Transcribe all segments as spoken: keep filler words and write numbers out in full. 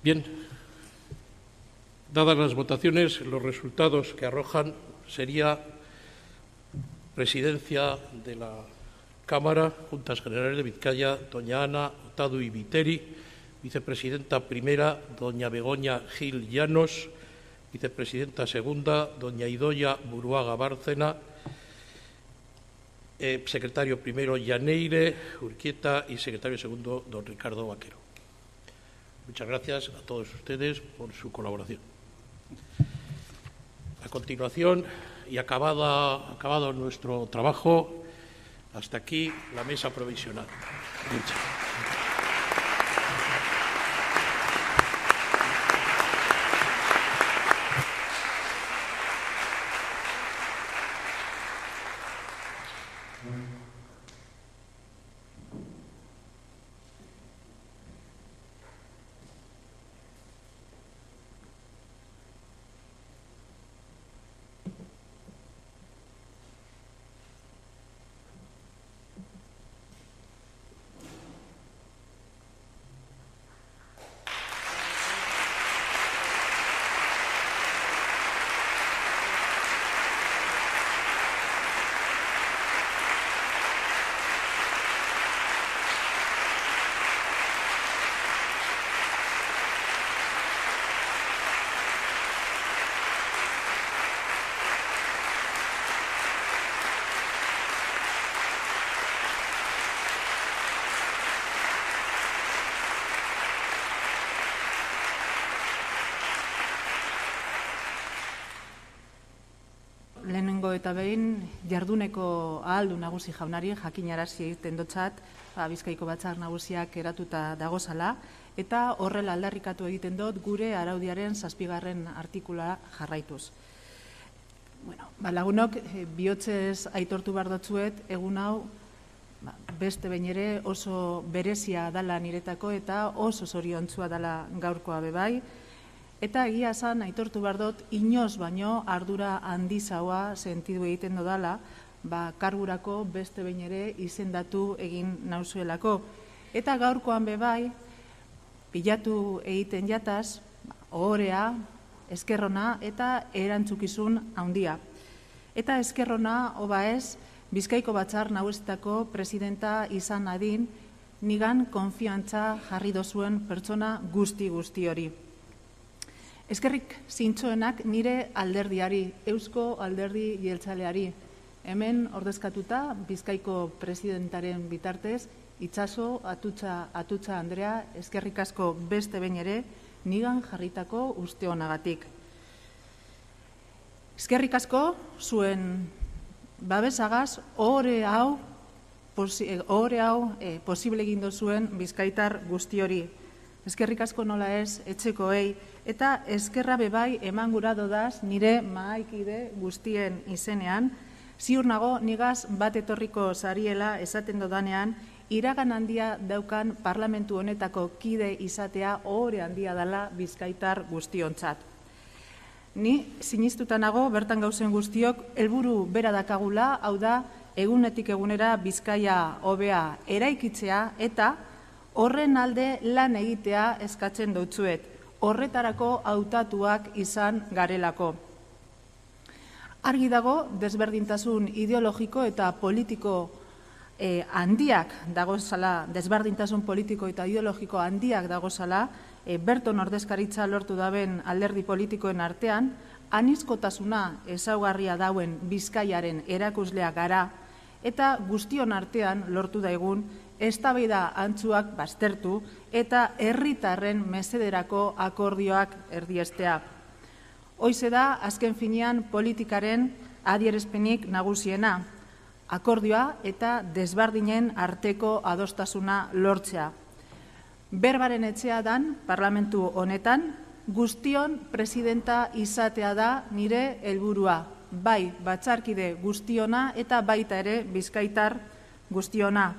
Bien, dadas las votaciones, los resultados que arrojan sería presidencia de la Cámara, Juntas Generales de Vizcaya, doña Ana Otadu y Viteri, vicepresidenta primera, doña Begoña Gil Llanos, vicepresidenta segunda, doña Idoia Buruaga Bárcena, eh, secretario primero, Llaneire Urquieta, y secretario segundo, don Ricardo Vaquero. Muchas gracias a todos ustedes por su colaboración. A continuación, y acabada, acabado nuestro trabajo, hasta aquí la mesa provisional. Muchas gracias. Lehenengo eta behin, jarduneko ahaldu nagusi jaunari jakinarazi egiten dotzat, ba, Bizkaiko Batzar Nagusiak eratuta dagozala, eta horrela aldarrikatu egiten dut gure araudiaren zazpigarren artikula jarraituz. Bueno, ba, lagunok, eh, bihotzez aitortu behar dotzuet, egun hau ba, beste behin ere oso berezia dala niretako eta oso zoriontzua dala gaurkoa bebai. Eta egia esan, aitortu behar dut, inoz baino ardura handizaua sentidu egiten dodala, ba, kargurako beste behin ere izendatu egin nauzuelako. Eta gaurkoan bebai, pilatu egiten jataz, ohorea, eskerrona eta erantzukizun handia. Eta eskerrona, oba ez, Bizkaiko Batzar Nagusietako presidenta izan adin, nigan konfiantza jarri dozuen pertsona guzti-guzti hori. Eskerrik zintzoenak nire alderdiari, Eusko Alderdi Jeltzaleari. Hemen ordezkatuta Bizkaiko presidentaren bitartez, Itxaso Atutxa, Atutxa Andrea, eskerrik asko beste behin ere, nigan jarritako uste honagatik. Eskerrik asko zuen babesagaz, ohore hau, ohore hau eh, posible egin dozuen Bizkaitar guzti hori. Eskerrik asko nola ez, etxekoei, eta eskerra bebai eman gura dodaz nire mahaikide guztien izenean, ziur nago nigaz bat etorriko zariela esaten dodanean, iragan handia daukan parlamentu honetako kide izatea ohore handia dela Bizkaitar guztiontzat. Ni sinistuta nago bertan gauzen guztiok helburu bera dakagula, hau da egunetik egunera Bizkaia hobea eraikitzea eta horren alde lan egitea eskatzen dutzuet, horretarako hautatuak izan garelako. Argi dago, desberdintasun ideologiko eta politiko eh, handiak dagozala, desberdintasun politiko eta ideologiko handiak dagozala, eh, berton ordezkaritza lortu daben alderdi politikoen artean, anizkotasuna ezaugarria dauen Bizkaiaren erakuslea gara, eta guztion artean lortu daigun, eztabaida antzuak baztertu eta herritarren mesederako akordioak erdiestea. Hoize da, azken finean politikaren adierazpenik nagusiena, akordioa eta desberdinen arteko adostasuna lortzea. Berbaren etxea dan, parlamentu honetan, guztion presidenta izatea da nire helburua, bai batzarkide guztiona eta baita ere Bizkaitar guztiona.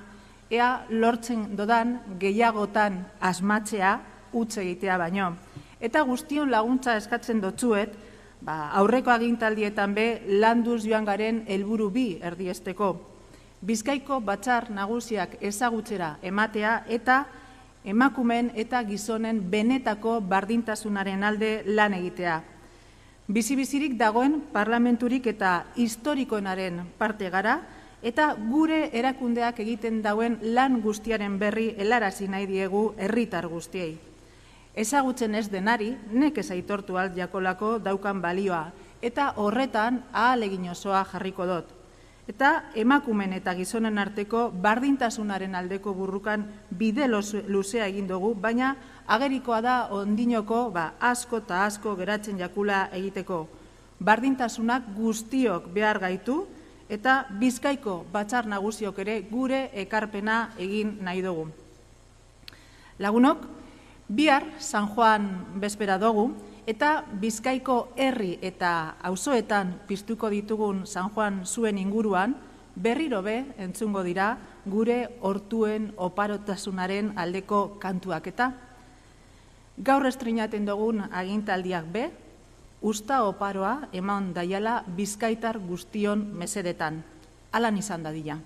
Ea lortzen dodan gehiagotan asmatzea utz egitea baino. Eta guztion laguntza eskatzen dotzuet, ba, aurreko agintaldietan be landuz joan garen helburu bi erdiesteko. Bizkaiko Batzar Nagusiak ezagutzera ematea eta emakumeen eta gizonen benetako bardintasunaren alde lan egitea. Bizi-bizirik dagoen parlamenturik eta historikoenaren parte gara, eta gure erakundeak egiten dauen lan guztiaren berri helarazi nahi diegu herritar guztiei. Ezagutzen ez denari, nekez aitortu alt jakolako daukan balioa, eta horretan ahalegin osoa jarriko dut. Eta emakumen eta gizonen arteko bardintasunaren aldeko burrukan bide luzea egin dugu, baina agerikoa da ondinoko asko eta asko geratzen jakula egiteko. Bardintasunak guztiok behar gaitu, eta Bizkaiko batzar nagusiok ere gure ekarpena egin nahi dugu. Lagunok, bihar San Juan bezpera dugu, eta Bizkaiko herri eta auzoetan piztuko ditugun San Juan zuen inguruan, berriro be entzungo dira gure hortuen oparotasunaren aldeko kantuak eta. Gaur estreinaten dugun agintaldiak be, usta oparoa eman daiala Bizkaitar guztion mesedetan. Alan izan dadila.